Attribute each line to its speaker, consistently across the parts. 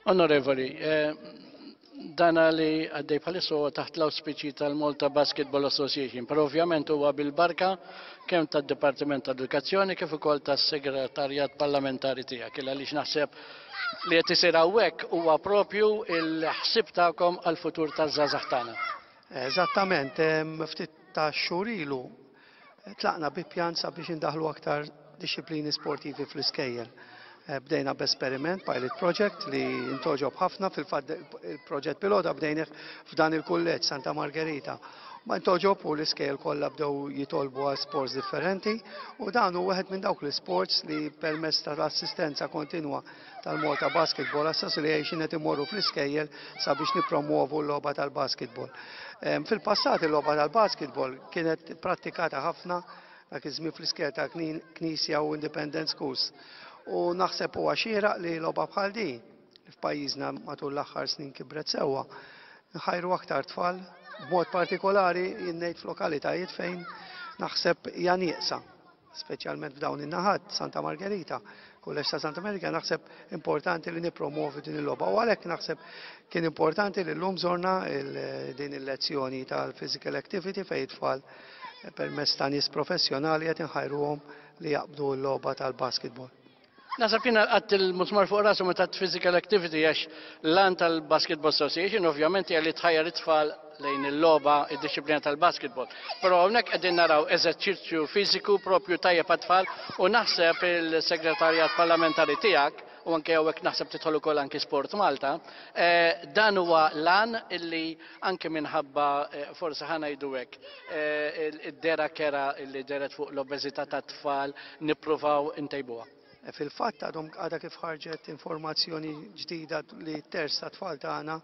Speaker 1: Onorevoli, dana li għaddej bħalissa huwa taħt l-awspiċi tal-Malta Basketball Association, però ovvjament huwa bil-barka kemm tad-Dipartiment ta' Edukazzjoni kif ukoll tas-Segretarjat Parlamentari tiegħek, il għaliex naħseb li qed isir hawnhekk huwa propju il-ħsieb tagħkom għall-futur taż-żgħażagħ tagħna.
Speaker 2: Eżattament, ftit ta' xhur ilu Tlaqna bi pjan sabiex indaħħlu aktar dixxiplini sportivi fl-iskejjel. Bdejna b'esperiment, pilot project, li ntogħġob ħafna, fil-fatt il-proġett pilota bdejnih f'dan il-kulleġġ Santa Margherita. Ma ntogħġob u l-iskejjel kollha bdew jitolbu għal sports differenti u dan hu wieħed minn dawk l-isports li permezz tal-assistenza kontinwa tal-Malta Basketball Association qed imorru fl-iskejjel sabiex nippromwovu l-logħba tal-basketball. Fil-passat il-logħba tal-basketball kienet prattikata ħafna dak iż-żmien fl-iskejjel ta' Knisja u Independent Schools. U naħseb huwa xieraq li logħba bħal din li f'pajjiżna matul l-aħħar snin kibret sewwa, nħajru aktar tfal, b'mod partikolari jien ngħid f'lokalitajiet fejn naħseb hija nieqsa. Speċjalment f'dawn in-naħat, Santa Margherita, Kulleġġ ta' Santa Margherita, naħseb importanti li nippromovi din il-logħba. U għalhekk naħseb kien importanti li llum żorna din il-lezzjoni tal-physical activity fejn it-tfal eh, permezz ta' nies professjonali qed inħajruhom li jaqbdu l-logħba tal-basketball.
Speaker 1: Naħseb jiena lqatt il-musmar fuq rasu meta għedt physical activity għax l-għan tal-Basketball Association ovvjament hija li tħajjar it-tfal lejn il-logħba, id-dixxiplina tal-basketball. Però hawnhekk qegħdin naraw eżerċizzju fiżiku propju tajjeb għat-tfal u naħseb il-segretarjat parlamentari tiegħek u anke hawnhekk naħseb tidħol ukoll anki Sport Malta, eh, dan huwa l-għan illi anke minħabba eh, forsi ħa ngħidu hekk, eh, id-dera kera illi deret fuq l-obeżità tat-tfal nippruvaw intejbuha.
Speaker 2: Eh, fil-fatt għadhom għadha kif ħarġet informazzjoni ġdida li terz ta' tfal tagħna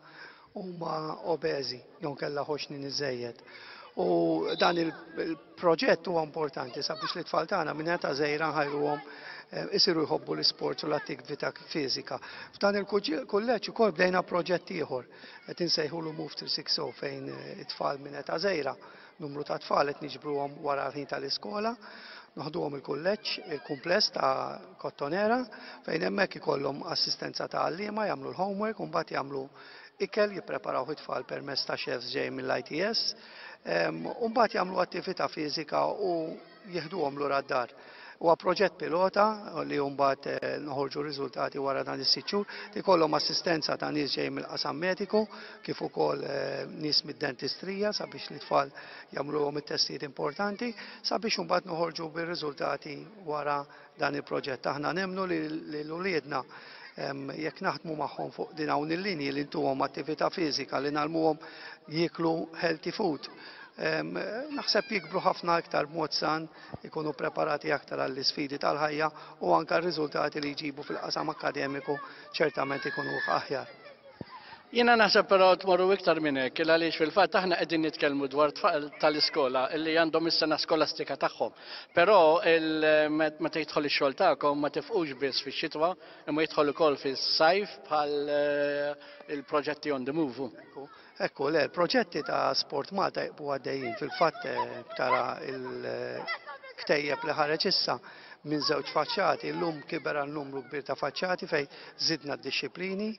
Speaker 2: huma obeżi jew kellha ħoxnin iżejjed. U dan il-proġett huwa importanti sabiex li tfal tagħna minn età żgħira nħajruhom eh, isiru jħobbu l-isport u l-attività fiżika. F'dan il-kulleġġ ukoll bdejna proġett ieħor Qed insejħulu Move 360 fejn it-tfal minn età żgħira, numru ta' tfal qed niġbruhom wara l-ħin tal-iskola, noħduhom il-kulleġġ, il-kumpless ta' Kottonera, fejn hemmhekk ikollhom assistenza ta' għalliema jagħmlu l-homework u mbagħad jagħmlu ikel jippreparawh it-tfal permezz ta' chefs ġejjin mill-ITS, u mbagħad jagħmlu attività fiżika u jieħduhom lura d-dar. Huwa proġett pilota li mbagħad eh, noħorġu riżultati wara dan is-sitt xhur li jkollhom assistenza ta' nies ġejjin mill-qasam mediku kif ukoll eh, nies mid-dentistrija sabiex l-itfal jagħmluhom it-testijiet importanti sabiex imbagħad noħorġu bir-riżultati wara dan il-proġett. Aħna nemmnu li l-uliedna jekk naħdmu magħhom fuq din hawn il-linji li ntuhom attività fiżika li nagħlmuhom jieklu healthy food. Naħseb jikbru ħafna iktar b'mod san, ikunu preparati aktar għall-isfidi tal-ħajja u anke r-riżultati li jġibu fil-qasam akkademiku ċertament ikunu aħjar.
Speaker 1: Jiena naħseb però tmorru iktar minn hekk, il għaliex fil-fatt aħna qegħdin nitkellmu dwar tfal tal-iskola illi għandhom is-sena skolastika tagħhom. Però meta jidħol ix-xogħol tagħkom ma tifqux biss fix-xitwa, imma jidħol ukoll fis-sajf bħal eh, il-proġetti on the move.
Speaker 2: Ekku, ekku, le, l-proġetti ta' Sport Malta jibqgħu għaddejjin. Fil-fatt eh, tara il-ktejjeb li ħareġ issa minn żewġ faċċati, llum kiber għal numru kbir ta' faċċati fejn żidna d-dixxiplini,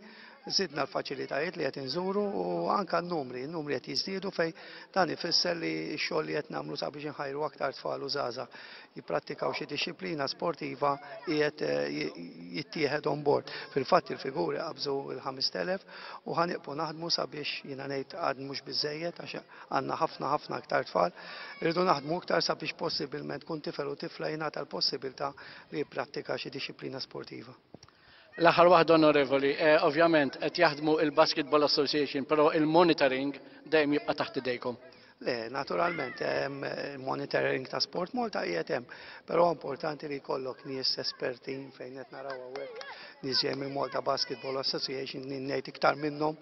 Speaker 2: Żidna l-faċilitajiet li qed inżuru u anke n-numri, n-numri qed jiżdiedu fejn dan ifisser li x-xogħol li qed nagħmlu sabiex inħajru aktar tfal u żgħażagħ jipprattikaw xi dixxiplina sportiva qiegħed jittieħed on board. Fil-fatt il-figuri qabżu l-5,000 u ħa nieqfu naħdmu sabiex jiena ngħid għad mhux biżżejjed għax għandna ħafna ħafna aktar tfal. Irridu naħdmu iktar sabiex possibilment kull tifel u tifla jingħata l-possibilità li jipprattika xi dixxiplina sportiva.
Speaker 1: L-aħħar waħda Onorevoli, eh, ovvjament qed jaħdmu il-Basketball Association, però il-monitoring dejjem jibqa' taħt idejkom.
Speaker 2: Le, naturalment, il-monitoring ta' Sport Malta qiegħed hemm, però importanti li jkollok nies esperti fejn qed naraw hawnhekk nies ġej mill-Malta Basketball Association ngħid iktar minnhom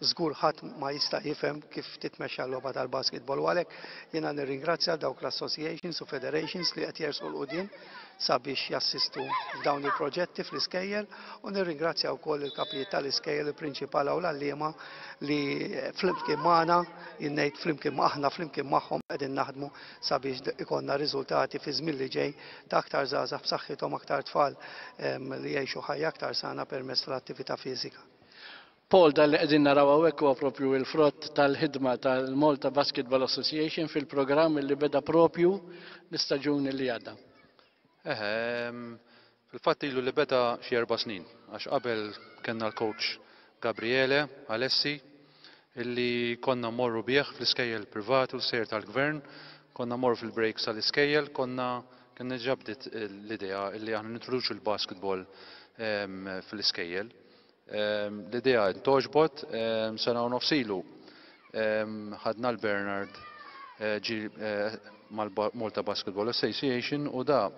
Speaker 2: żgur ħadd ma jista' jifhem kif titmexxa l-logħba tal-basketball u għalhekk jiena nirringrazzja dawk l-associations u federations li qed jersqu 'l quddiem sabiex jassistu f'dawn il-proġetti fl-iskejjel u nirringrazzja wkoll il-kapijiet tal-iskejjel, il-prinċipala u l-għalliema li flimkien magħna, jien ngħid flimkien aħna flimkien magħhom qegħdin naħdmu sabiex ikollna riżultati fi żmien li ġej ta' aktar żgħażagħ b'saħħithom, aktar tfal li jgħixu ħajja aktar sana permezz tal-attività fiżika.
Speaker 1: Paul, dan li qegħdin naraw hawnhekk huwa propju il-frott tal-ħidma tal-Malta Basketball Association fil-programm li beda propju l-istaġun li għadda.
Speaker 3: Eħe, fil-fatt ilu li beda xi 4 snin, għax qabel kellna l-coach Gabriele Alessi, illi konna morru bih fl-iskejjel privati u l-iskejjel tal-gvern, konna morru fil-breaks tal-iskejjel, konna kien ġabdit l-idea illi aħna nintroduċu l-basketball fl-iskejjel. L-idea intgħoġbot, sena u nofs ilu ħadna l-Bernard ġi mal-Malta Basketball Association u da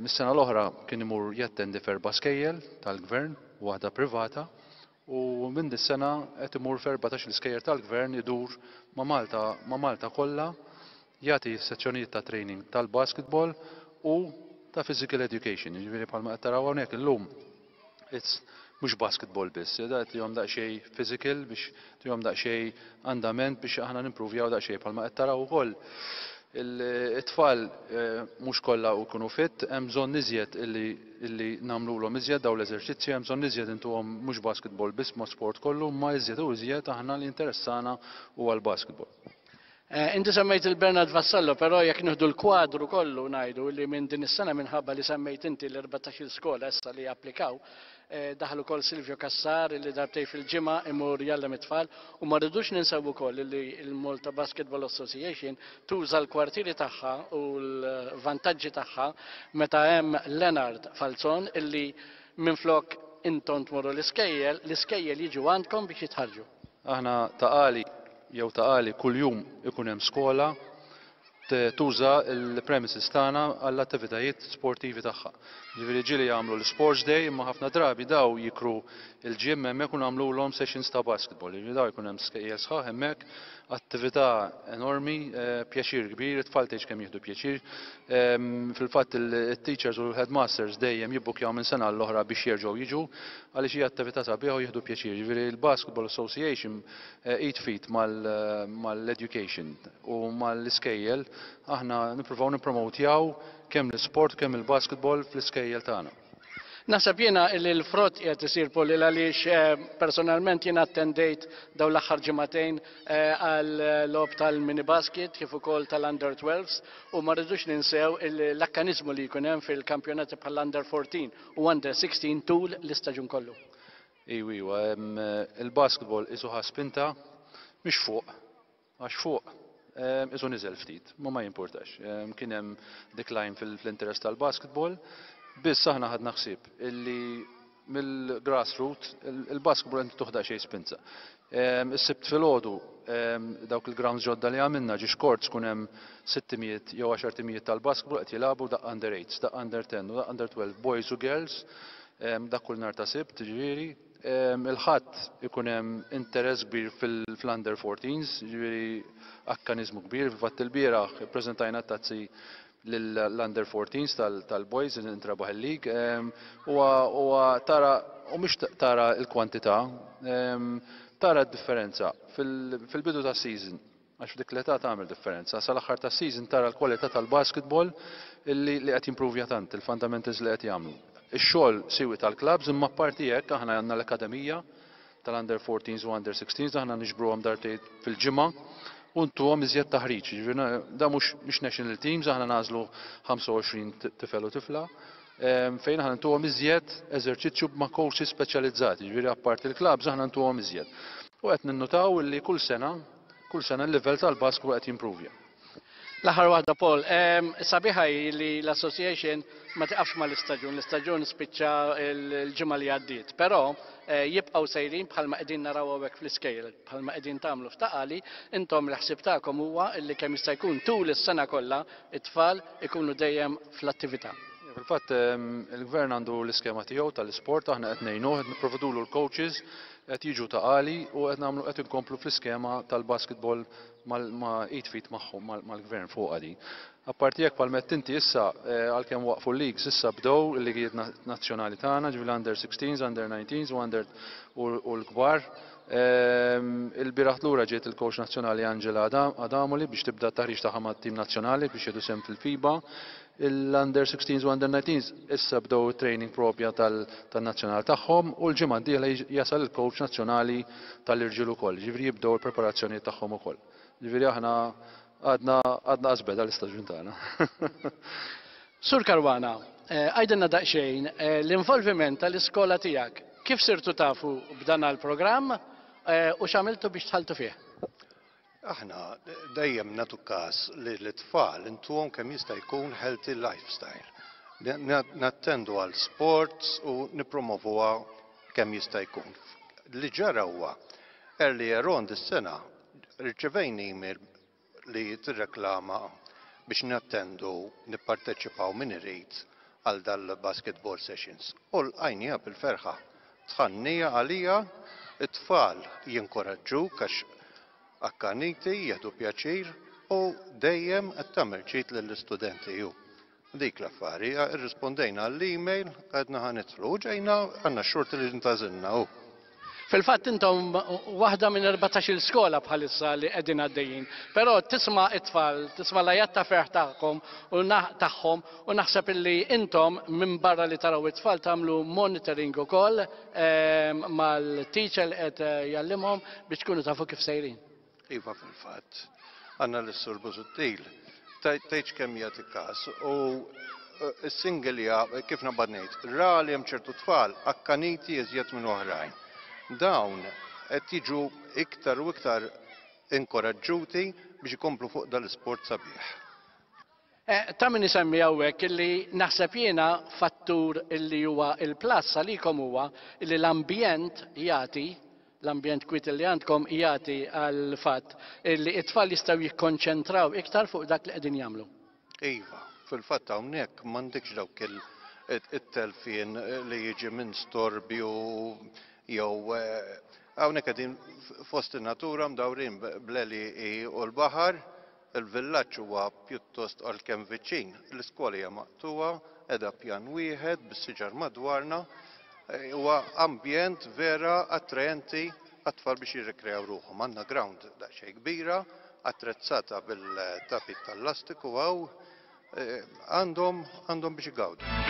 Speaker 3: mis-sena l-oħra kien imur jattendi f'erba' skejjel tal-gvern, waħda privata, u minn dis-sena qed imur f'14 iskejjel tal-gvern, idur ma' Malta kollha jagħti sezzjonijiet ta' training tal-basketball u ta' physical education. Jiġifieri bħalma qed taraw hawnhekk illum, it's mhux basketball biss, da tihom daqsxejn physical biex tihom daqsxejn andament biex aħna nimprovjaw daqsxejn, bħalma qed taraw ukoll it-tfal mhux kollha jkunu fit, hemm bżonn iżjed illi nagħmluhom iżjed daw l-eżerċizzji, hemm bżonn iżjed intuhom mhux basketball biss ma sport kollu, ma iżjed u iżjed aħna li interessana huwa l-basketball.
Speaker 1: Inti semmejt il-Bernard Vassallo, però jekk nieħdu l-kwadru kollu ngħidu li minn din is-sena, minħabba li semmejt inti l-14 skola issa li applikaw, daħlu ukoll Silvio Cassar li darbtejn fil-ġimgħa imur jgħallem it-tfal, u ma rridux ninsew ukoll li l-Malta Basketball Association tuża l-kwartieri tagħha u l-vantaġġi tagħha meta hemm Leonard Falzon, illi minflok intom tmorru l-iskejjel, l-iskejjel jiġu għandkom biex jitħarġu.
Speaker 3: Aħna Ta' Qali jew Ta' Qali kuljum ikun hemm skola tuża l-premises tagħna għall-attivitajiet sportivi tagħha. Ġifieri ġieli jagħmlu l-Sports Day, imma ħafna drabi daw jikru il-gym hemmhekk u nagħmluhom sessions ta' basketball. Ġifieri daw jkun hemm skejjel sħaħ hemmhekk, attività enormi, pjaċir kbir, it-tfal tgħidx kemm jieħdu pjaċir. Fil-fatt il-teachers u l-headmasters dejjem jibbukjaw minn sena l-oħra biex jerġgħu jiġu għaliex hija attività sabiħa u jieħdu pjaċir. Ġifieri l-Basketball Association id f'id mal-education u mal-iskejjel aħna nippruvaw nippromotjaw kemm l-sport, kemm il-basketball fl-iskejjel tagħna.
Speaker 1: Naħseb jiena li l-frott qiegħed isir, Paul, għaliex personalment jiena attendejt dawn l-aħħar ġimagħtejn għal logħob tal-mini basket kif ukoll tal-under 12s, u ma rridux ninsew l-akkanizmu li jkun hemm fil-kampjonati bħall-under 14 u under 16 tul l-istaġun kollu.
Speaker 3: Iwa, il-basketball qisu ħa spinta, mhix fuq, għax fuq qisu niżel ftit, ma ma jimportax. Kien hemm decline fil-interess tal-basketball, biss aħna ħadna ħsieb illi mill-grassroot il-basketball qed tuħda xejn spinta. Is-Sibt filgħodu dawk il-grounds ġodda li għamilna ġiex courts kun hemm 600 jew 10 timijiet tal-basketball qed jilagħbu, daqq under 8, daqq under 10 u daqq under 12, boys u girls, dak kull nhar ta' Sibt, ġifieri. Il-Ħadd ikun hemm interess kbir fil-under 14s, ġifieri akkanizmu kbir. Fil-fatt il-bieraħ ippreżentajna tazzi l-under 14s tal-boys intrebaħ il-league. Huwa tara u mhux tara l-kwantità, tara d-differenza fil-bidu ta' season, għax f'dik l-età tagħmel differenza. Sal-aħħar ta' season tara l-kwalità tal-basketball illi li qed jimprovja tant, il-fundamentals li qed jagħmlu. Ix-xogħol siwi tal-clubs, imma parti hekk aħna għandna l-akademija tal-under 14s u under 16s, aħna niġbruhom darbtejn fil-ġimgħa u ntuhom iżjed taħriġ. Ġifieri da mhux national teams, aħna nagħżlu 25 tifel u tifla fejn aħna ntuhom iżjed eżerċizzju ma' coaches speċjalizzati, ġifieri apparti il-clubs aħna ntuhom iżjed. U qed ninnutaw li kull sena, kull sena l-livell tal-basketball qed jimprovja.
Speaker 1: L-aħħar waħda, Paul, sabiħa hi li l-association ma tiqafx ma l-istaġun, l-istaġun spiċċa l-ġimgħa li għaddiet, però jibqgħu sejrin bħalma qegħdin naraw hawnhekk fl-iskejjel, bħalma qegħdin tagħmlu f'Ta' Qali, intom l-ħsieb tagħkom huwa li kemm jista' jkun tul is-sena kollha it-tfal ikunu dejjem fl-attività.
Speaker 3: Fil-fatt il-gvern għandu l-iskema tiegħu tal-isport, aħna qed ngħinuh, qed nipprovdulu l-coaches, qed jiġu Ta' Qali u qed nagħmlu, qed inkomplu fl-iskema tal-basketball ma' id f'id magħhom, mal-gvern fuq għadi. Apparti jekk palmet inti issa, għalkemm waqfu l-leagues, issa bdew il-ligijiet nazzjonali tagħna, ġifieri under 16s, under 19s u under u l-kbar. Il-bieraħ lura ġiet il-coach nazzjonali Angela Adamoli biex tibda t-taħriġ tagħha mat-tim nazzjonali biex jieħdu sehem fil-FIBA. Il-Under 16s u Under 19s issa bdew it-training propja tan-nazzjonal tagħhom u l-ġimgħa d-dieħla jasal il-coach nazzjonali tal-irġiel ukoll, jiġifieri jibdew il-preparazzjonijiet tagħhom ukoll. Jiġifieri aħna għadna għadna qas beda l-istaġun tagħna.
Speaker 1: Sur Caruana, għidilna daqsxejn l-involviment tal-iskola tiegħek. Kif sirtu tafu b'dan l-programm u x'għamiltu biex dħaltu fih?
Speaker 4: Aħna dejjem nagħtu każ li l-tfal intuhom kemm jista' jkun healthy lifestyle. Nattendu għal sports u nippromovuha kemm jista' jkun. Li ġara huwa earlier on dis-sena rċevejna email li tirreklama biex nattendu nipparteċipaw min irid għal dal-basketball sessions. U lqajnieha bil-ferħa. Dħalnieha għalija, it-tfal jinkoraġġuk għax akkaniti, jieħdu pjaċir u dejjem qed tagħmel ġid lill-istudenti ju. Dik l-affari, irrispondejna għall-email, għedna ħa nidħlu u ġejna għandna x-xorti li ntgħażilna u.
Speaker 1: Fil-fatt intom waħda minn 14-il skola bħalissa li qegħdin għaddejjin. Però tisma' it-tfal, tisma' l-għajat ta' ferħ tagħkom u tagħhom u naħseb illi intom minn barra li taraw it-tfal tagħmlu monitoring ukoll mal-teacher li qed jgħallimhom biex tkunu tafu kif sejrin.
Speaker 4: Iva fil-fatt, għandna lis-Sur Busuttil, tgħidx kemm jagħti każ u s-single kif nabad ngħid, ra li hemm ċertu tfal akkaniti iżjed minn oħrajn. Dawn qed jiġu iktar u iktar inkoraġġuti biex ikomplu fuq dal-isport sabiħ.
Speaker 1: Ta' min isemmi hawnhekk illi naħseb jiena fattur illi huwa il-plus għalikom huwa illi l-ambjent jagħti l-ambjent kwiet li għandkom jagħti għal fatt illi it-tfal jistgħu jikkonċentraw iktar fuq dak li qegħdin jagħmlu.
Speaker 4: Iva, fil-fatt hawnhekk m'għandekx dawk it-telfien li jiġi minn storbju jew hawnhekk qegħdin fost in-natura mdawrin bl-għelieqi u l-baħar. Il-villaġġ huwa pjuttost għalkemm viċin, l-iskola hija maqtugħa, qiegħda pjan wieħed bis-siġar madwarna. Huwa ambjent vera attraenti għat-tfal biex jirrikreaw ruħhom. Għandna ground daqsxejn kbira, attrezzata bil-tapit tal-lastiku hawn, għandhom għandhom biex igawdu.